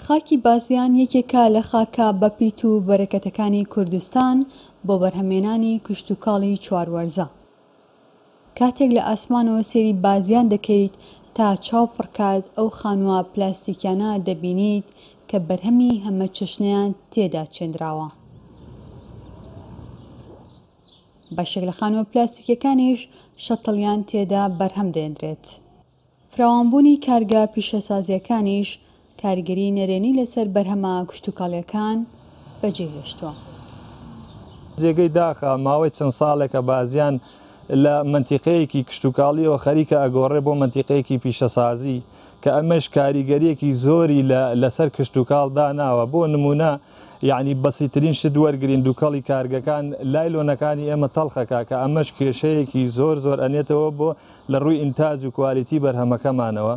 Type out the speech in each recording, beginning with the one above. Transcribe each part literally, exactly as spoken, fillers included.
خاکی بازیان یەکێکە لە خاکە بەپیت و بەرەکەتەکانی کوردستان بۆ بەرهەمێنانی کشتوکاڵی چوار وەرزە. کاتێک لە ئاسمانەوە سەیری بازیان دەکەیت تا چاو پڕکات ئەو خانووە پلاستیکیانە دەبینیت کە بەرهەمی هەمەچەشنەیان تێدا چێندراوە. بەشێک لە خانووە پلاستیکیەکانیش شەتڵیان تێدا بەرهەم دێنرێت. فراوانبوونی کارگە پیشەسازیەکانیش کاریگەری نەرێنی لەسەر بەرهەمە کشتوکاڵیەکان بەجێهێشتووە. جێگەی داخە ماوەی چەند ساڵێکە بازیان لە مەنتیقەیەکی کشتوکاڵیەوە خەریکە ئەگۆڕێ بۆ مەنتیقەیەکی پیشەسازی کە ئەمەش کاریگەریەکی زۆری لەسەر کشتوکاڵ داناوە. بۆ نمونە یعنی بەسیترین شت وەرگرین دووکەڵی کارگەکان لایلۆنەکانی ئێمە تەڵخەکە کە ئەمەش کێشەیەکی زۆر زۆر ئەنێتەوە بۆ لە ڕووی ئینتاج و کوالیتی بەرهەمەکەمانەوە.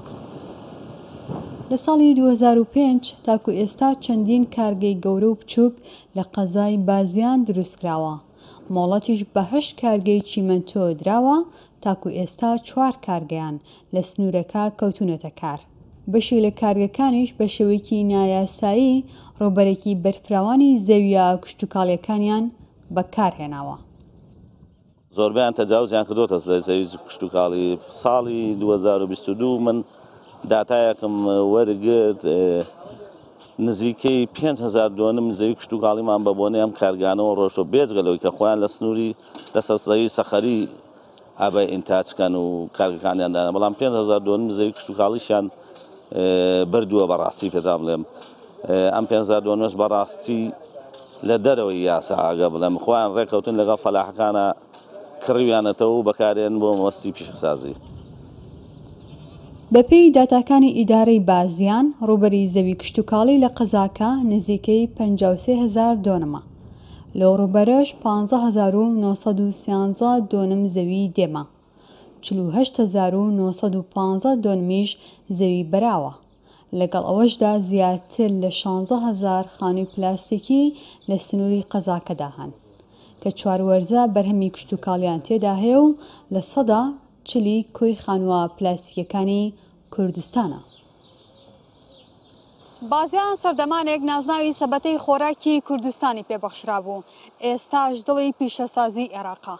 لە ساڵی دوو هەزار و پێنج تاکو ئێستا چەندین کارگەی گەورە و بچووک لە قەزای بازیان دروستکراوە. مۆڵەتیش بە هەشت کارگەی چیمەنتۆ دراوە تاکو ئێستا چوار کارگەیان لە سنوورەکە کەوتونەتە کار. بەشێک لە کارگەکانیش بە شێوەیەکی نایاسایی ڕووبەرێکی بەرفراوانی زەویە کشتوکاڵیەکانیان بەکارهێناوە. زۆربیان تەجاوزیان کردوتە زەوی کشتوکاڵی. ساڵی دوو هەزار و بیست و دوو من داتایەکم وەرگرت نزیکەی پێنج هەزار دۆنم زەوی کشتوکاڵیمان بە بۆنەی ئەم کارگانەوە ڕۆشتەوە، بێجگە لەوەی کە خۆیان لە سنووری لەسەر زەوی سەخەری ئابای ئینتاجکەن و کارگەکانیان دانا، بەڵام پێنج هەزار دۆنم زەوی کشتوکاڵیشیان بردووە. بەڕاستی پێدان بڵێم ئەم پێنج هەزار دۆنمەش بەڕاستی لە دەرەوەی یاسا ئاگە بڵێم خۆیان ڕێکەوتن لەگەڵ فەلاحەکانە کڕیویانەتەوە و بەکارێن بۆ مەبەستی پیشەسازی. بەپێی داتاکانی ئیدارەی بازیان ڕووبەری زەوی کشتوکاڵی لە قەزاکە نزیکەی پەنجا و سێ هەزار دۆنمە. لەو ڕووبەرەش پانزە هەزار و نۆ سەد و سیانزە دۆنم زەوی دێمە، چل و هەشت هەزار و نۆ سەد و پانزە دۆنمیش زەوی بەراوە. لەگەڵ ئەوەشدا زیاتر لە شانزە هەزار خانووی پلاستیکی لە سنووری قەزاکەدا هەن کە چوار وەرزە بەرهەمی کشتوکاڵیان تێدا هەیە و لە سەدا چلی کۆی خانووە پلاستیکیەکانی کوردستانە. بازیان سەردەمانێک نازناوی سەبەتەی خۆراکی کوردستانی پێبەخشرا بوو، ئێستاش دڵی پیشەسازی عێراقا.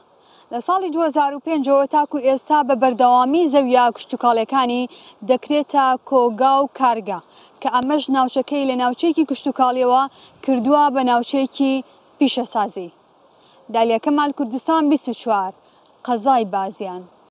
لە ساڵی دوو هەزار و پێنجەوە تاکو ئێستا بە بەردەوامی زەویە کشتوکاڵیەکانی دەکرێتە کۆگا و کارگە کە ئەمەش ناوچەکەی لە ناوچەیەکی کشتوکاڵیەوە کردووە بە ناوچەیەکی پیشەسازی. دالیا کەمال، کوردستان بیست و چوار، قەزای بازیان.